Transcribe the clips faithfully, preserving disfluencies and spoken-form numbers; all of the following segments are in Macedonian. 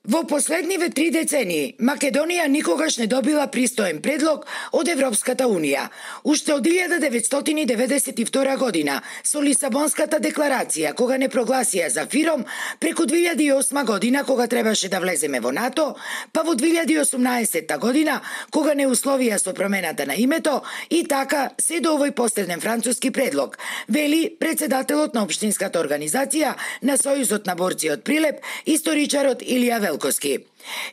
Во последниве три децении, Македонија никогаш не добила пристоен предлог од Европската Унија. Уште од илјада деветстотини и деветдесет и втора година, со Лисабонската декларација, кога не прогласија за ФИРОМ, преку две илјади и осма година, кога требаше да влеземе во НАТО, па во две илјади и осумнаесетта година, кога не условија со промената на името, и така се до овој последен француски предлог, вели председателот на општинската организација на Сојузот на борци од Прилеп, историчарот Илија Велковски.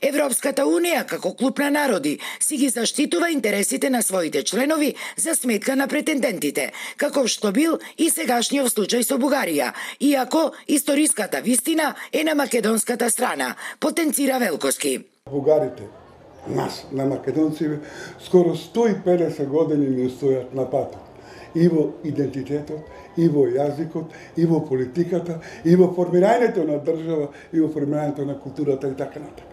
Европската Унија, како клуб на народи, си ги заштитува интересите на своите членови за сметка на претендентите, како што бил и сегашниот случај со Бугарија, иако историската вистина е на македонската страна, потенцира Велковски. Бугарите, нас, на македонци, скоро сто и педесет години не стојат на патот. И во идентитетот, и во јазикот, и во политиката, и во формирањето на држава, и во формирањето на културата и така натаму.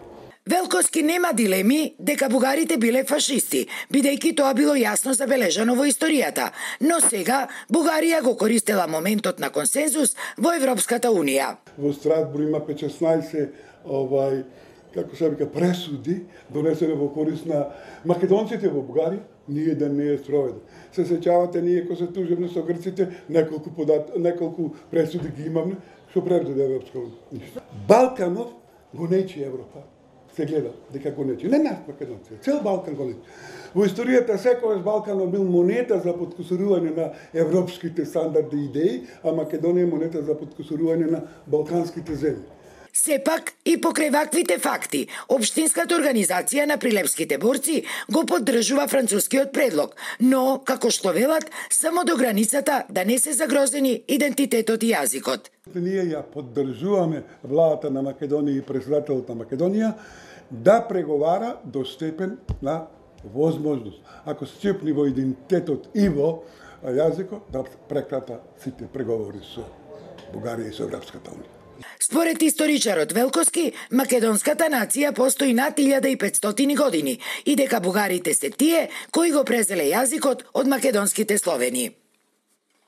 Велковски нема дилеми дека бугарите биле фашисти, бидејќи тоа било јасно забележано во историјата, но сега Бугарија го користела моментот на консензус во Европската Унија. Во Страсбург има петнаесет овај како се вика пресуди донесени во корист на македонците во Бугарија, ние да не е спроведен. Се сеќавате ние кога се тужевме со грците, неколку подат, неколку пресуди ги имаме, што преведе Европска Унија. Балканов го нечи Европа. Се гледа дека го нечи. Не нас македонци, цел Балкан го нечи. Во историјата секогаш Балканов бил монета за подкусурување на европските стандарди и идеи, а Македонија е монета за подкусурување на балканските земји. Сепак и покрај ваквите факти, општинската организација на прилепските борци го поддржува францускиот предлог, но, како што велат, само до границата да не се загрозени идентитетот и јазикот. Ние ја поддржуваме владата на Македонија и председателот на Македонија да преговара до степен на возможност. Ако се чепни во идентитетот и во јазикот, да прекрата сите преговори со Бугарија и со Европската Унија. Според историчарот Велковски, македонската нација постои над илјада и петстотини години и дека бугарите се тие кои го презеле јазикот од македонските словени.